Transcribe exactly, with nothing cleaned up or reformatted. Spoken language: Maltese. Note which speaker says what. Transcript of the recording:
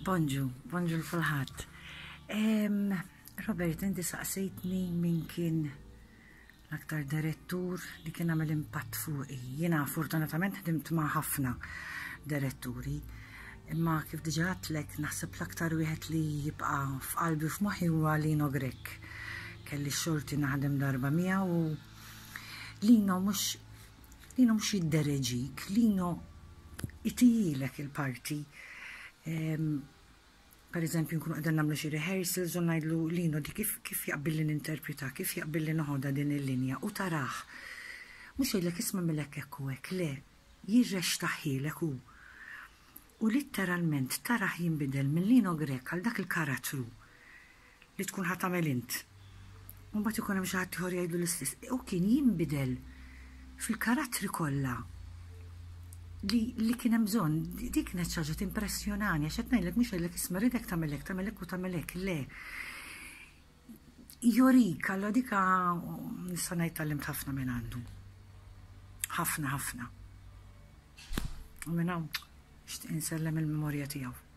Speaker 1: Bonġu, bonġu lil kulħadd. Robert, inti saqsejtni min kien l-aktar direttur li kien għamel impatt fuqi. Jiena fortunatament ħdimt ma' ħafna diretturi, imma kif diġà għedtlek, naħseb l-aktar wieħed li jibqa' f'qalbi, f'moħħi, huwa Lino Grech. Kelli xorti naħdem darba miegħu u Lino mhux Lino mhux jiddereġik, Lino itihilek il-parti. Per eżempju, nkunu qegħdin nagħmlu xi rehearsals u ngħidlu: "Lino, di kif kif jaqbilli ninterpreta, kif jaqbilli noħodha din il-linja?" U tarah. Mhux jgħidlek: "Isma', milek hekk u hekk", le, jirreċtahielek hu. U litteralment tarah jinbidel minn Lino Grech għal dak il-karattru li tkun ħa tagħmel int. U mbagħad ikun hemm xi ħadd ieħor jgħidlu l-istess. U kien jinbidel fil-karattri kollha li, li kien hemm bżonn. Dik kienet xi ħaġa timpressjonani, għax qed ngħidlek, mhux jgħidlek: "Isma', ridek tagħmel hekk, tagħmel hekk u tagħmel hekk", le. Jorik, allora dika nista' ngħid tgħallimt ħafna minn għandu. Ħafna, ħafna. U minn hawn nixtieq insellem il-memorja tiegħu.